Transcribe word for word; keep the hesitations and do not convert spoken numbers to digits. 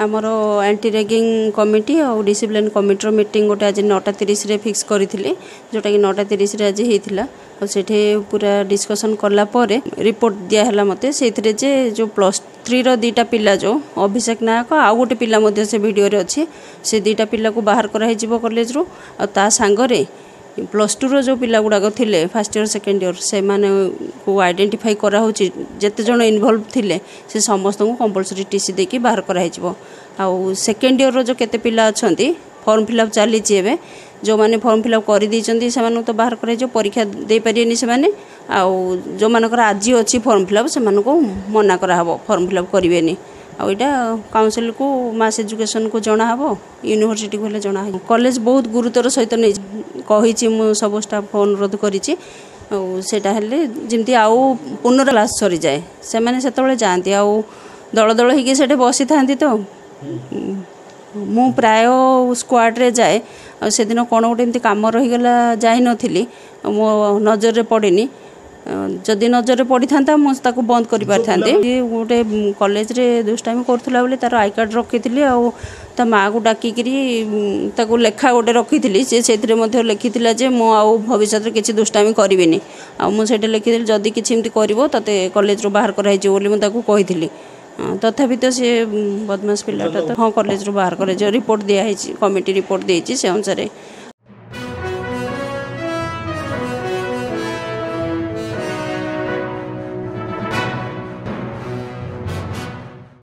ଆମର anti ragging committee ଆଉ discipline କମିଟିର ମିଟିଂ ଗୋଟେ ଆଜି ନଅଟା ତିରିଶରେ ଫିକ୍ସ କରିଥିଲି, ଯେଉଁଟାକି ନଅଟା ତିରିଶରେ ଆଜି ହେଇଥିଲା। ଆଉ ସେଠି ପୁରା ଡିସ୍କସନ୍ କଲା ପରେ ରିପୋର୍ଟ ଦିଆହେଲା ମୋତେ ସେଇଥିରେ ଯେ ଯେଉଁ ପ୍ଲସ୍ ଥ୍ରୀର ଦୁଇଟା ପିଲା, ଯେଉଁ ଅଭିଷେକ ନାୟକ ଆଉ ଗୋଟେ ପିଲା ମଧ୍ୟ ସେ ଭିଡ଼ିଓରେ ଅଛି, ସେ ଦୁଇଟା ପିଲାକୁ ବାହାର କରାହେଇଯିବ କଲେଜରୁ। ଆଉ ତା ସାଙ୍ଗରେ ପ୍ଲସ୍ ଟୁର ଯେଉଁ ପିଲା ଗୁଡ଼ାକ ଥିଲେ, ଫାର୍ଷ୍ଟ ଇୟର୍ ସେକେଣ୍ଡ ଇୟର୍, ସେମାନଙ୍କୁ ଆଇଡେଣ୍ଟିଫାଇ କରାହେଉଛି। ଯେତେ ଜଣ ଇନଭଲ୍ଭ ଥିଲେ ସେ ସମସ୍ତଙ୍କୁ କମ୍ପଲସରି ଟି ସି ଦେଇକି ବାହାର କରାହେଇଯିବ। ଆଉ ସେକେଣ୍ଡ ଇୟର୍ର ଯେଉଁ କେତେ ପିଲା ଅଛନ୍ତି, ଫର୍ମ ଫିଲ୍ଅପ୍ ଚାଲିଛି ଏବେ। ଯେଉଁମାନେ ଫର୍ମ ଫିଲ୍ଅପ୍ କରିଦେଇଛନ୍ତି ସେମାନଙ୍କୁ ତ ବାହାର କରାଯିବ, ପରୀକ୍ଷା ଦେଇପାରିବେନି ସେମାନେ। ଆଉ ଯେଉଁମାନଙ୍କର ଆଜି ଅଛି ଫର୍ମ ଫିଲ୍ଅପ୍, ସେମାନଙ୍କୁ ମନା କରାହେବ, ଫର୍ମ ଫିଲ୍ଅପ୍ କରିବେନି। ଆଉ ଏଇଟା କାଉନସିଲ୍କୁ, ମାସ୍ ଏଜୁକେସନ୍କୁ ଜଣାହେବ, ୟୁନିଭର୍ସିଟିକୁ ହେଲେ ଜଣାହେବ। କଲେଜ ବହୁତ ଗୁରୁତ୍ୱର ସହିତ ନେଇଛି, କହିଛି, ମୁଁ ସବୁ ଷ୍ଟାଫ୍କୁ ଅନୁରୋଧ କରିଛି। ଆଉ ସେଇଟା ହେଲେ ଯେମିତି ଆଉ ପୁନଃ କ୍ଲାସ୍ ସରିଯାଏ, ସେମାନେ ସେତେବେଳେ ଯାଆନ୍ତି ଆଉ ଦଳ ଦଳ ହେଇକି ସେଠି ବସିଥାନ୍ତି। ତ ମୁଁ ପ୍ରାୟ ସ୍କ୍ୱାଡ଼ରେ ଯାଏ, ଆଉ ସେଦିନ କ'ଣ ଗୋଟେ ଏମିତି କାମ ରହିଗଲା, ଯାଇନଥିଲି, ମୋ ନଜରରେ ପଡ଼ିନି। ଯଦି ନଜରରେ ପଡ଼ିଥାନ୍ତା ମୁଁ ତାକୁ ବନ୍ଦ କରିପାରିଥାନ୍ତି। ଗୋଟେ କଲେଜରେ ଦୁଷ୍ଟାମି କରୁଥିଲା ବୋଲି ତାର I card ରଖିଥିଲି, ଆଉ ତା ମାଆକୁ ଡାକିକିରି ତାକୁ ଲେଖା ଗୋଟେ ରଖିଥିଲି। ସେ ସେଇଥିରେ ମଧ୍ୟ ଲେଖିଥିଲା ଯେ ମୁଁ ଆଉ ଭବିଷ୍ୟତରେ କିଛି ଦୁଷ୍ଟାମି କରିବିନି। ଆଉ ମୁଁ ସେଇଟା ଲେଖିଥିଲି, ଯଦି କିଛି ଏମିତି କରିବ ତତେ କଲେଜରୁ ବାହାର କରାହେଇଯିବ ବୋଲି ମୁଁ ତାକୁ କହିଥିଲି। ତଥାପି ତ ସେ ବଦମାସ ପିଲାଟା ତ। ହଁ, କଲେଜରୁ ବାହାର କରାଯିବ, ରିପୋର୍ଟ ଦିଆହେଇଛି, କମିଟି ରିପୋର୍ଟ ଦେଇଛି, ସେ ଅନୁସାରେ